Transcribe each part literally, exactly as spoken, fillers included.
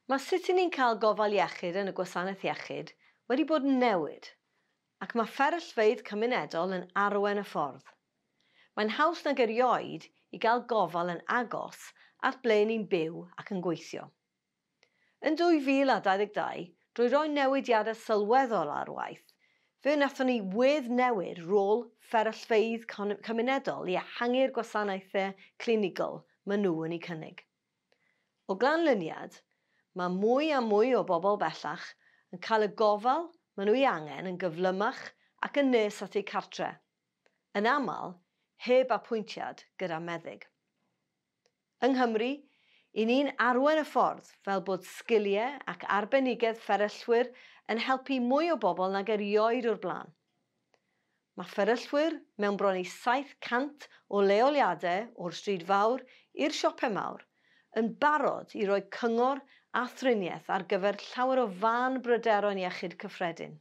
Mae sut 'y ni'n cael gofal iechyd yn y gwasanaeth iechyd wedi bod yn newid, ac mae fferyllfeydd cymunedol yn arwain y ffordd. Mae'n haws nag erioed i gael gofal yn agos at ble ni'n byw ac yn gweithio. Yn dwy fil a dau ddeg dau, drwy roi newidiadau sylweddol ar waith, fe wnaethon ni weddnewid rôl fferyllfeydd cymunedol i ehangu'r gwasanaethau clinigol maen nhw yn eu cynnig. O ganlyniad, mae mwy a mwy o bobl bellach yn cael y gofal maen nhw ei angen yn gyflymach ac yn nes at eu cartre, yn aml heb apwyntiad gyda meddyg. Yng Nghymru, 'y ni'n arwain y ffordd fel bod sgiliau ac arbenigedd fferyllwyr yn helpu mwy o bobl nag erioed o'r blaen. Mae fferyllwyr mewn bron i saith cant o leoliadau o'r stryd fawr i'r siopau mawr yn barod i roi cyngor a thriniaeth ar gyfer llawer o fân bryderon iechyd cyffredin.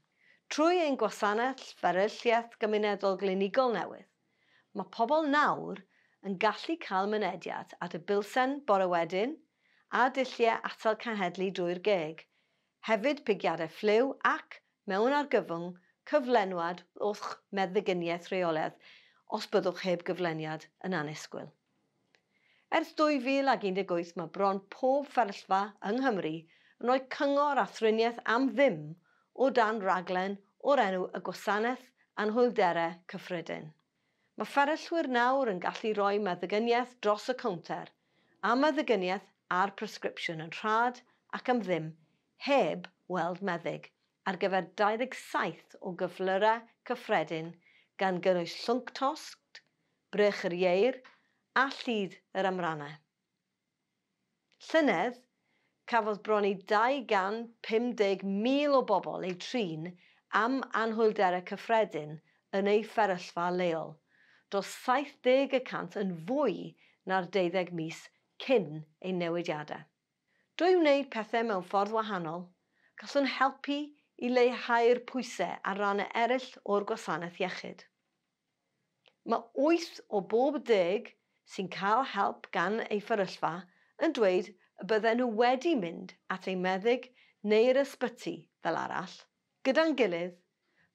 Trwy ein gwasanaeth fferylliaeth gymunedol glinigol newydd, mae pobl nawr yn gallu cael mynediad at y bilsen bore wedyn a dulliau atal cenhedlu drwy'r geg, hefyd pigiadau ffliw ac, mewn argyfwng, cyflenwad o'ch meddyginiaeth rheolaidd os byddwch heb gyfleniad yn annisgwyl. Ers dwy fil ac un deg wyth mae bron pob fferyllfa yng Nghymru yn rhoi cyngor a thriniaeth am ddim o dan raglen o'r enw y Gwasanaeth Anhwylderau Cyffredin. Mae fferyllwyr nawr yn gallu rhoi meddyginiaeth dros y cownter a meddyginiaeth a'r presgripsiwn yn rhad ac am ddim heb weld meddyg ar gyfer dau ddeg saith o gyflyrau cyffredin gan gynnwys llwnc tost, brech yr ieir a llid yr amrannau. Llynedd, cafodd bron i dau gant pum deg mil o bobl eu trin am anhwylderau cyffredin yn eu fferyllfa leol, dros saith deg y cant yn fwy na'r deuddeg mis cyn ein newidiadau. Drwy wneud pethau mewn ffordd wahanol, gallwn helpu i leihau'r pwysau ar rannau eraill o'r gwasanaeth iechyd. Mae wyth o bob deg sy'n cael help gan eu fferyllfa yn dweud y bydden nhw wedi mynd at eu meddyg neu'r ysbyty fel arall. Gyda'n gilydd,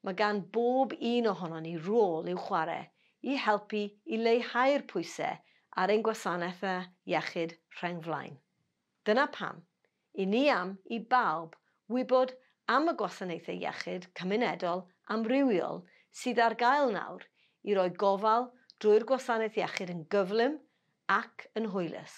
mae gan bob un ohonon ni rôl i'w chwarae i helpu i leihau'r pwysau ar ein gwasanaethau iechyd rheng flaen. Dyna pam, i ni am i bawb wybod am y gwasanaethau iechyd cymunedol amrywiol sydd ar gael nawr i roi gofal drwy'r gwasanaeth iechyd yn gyflym ac yn hwylus.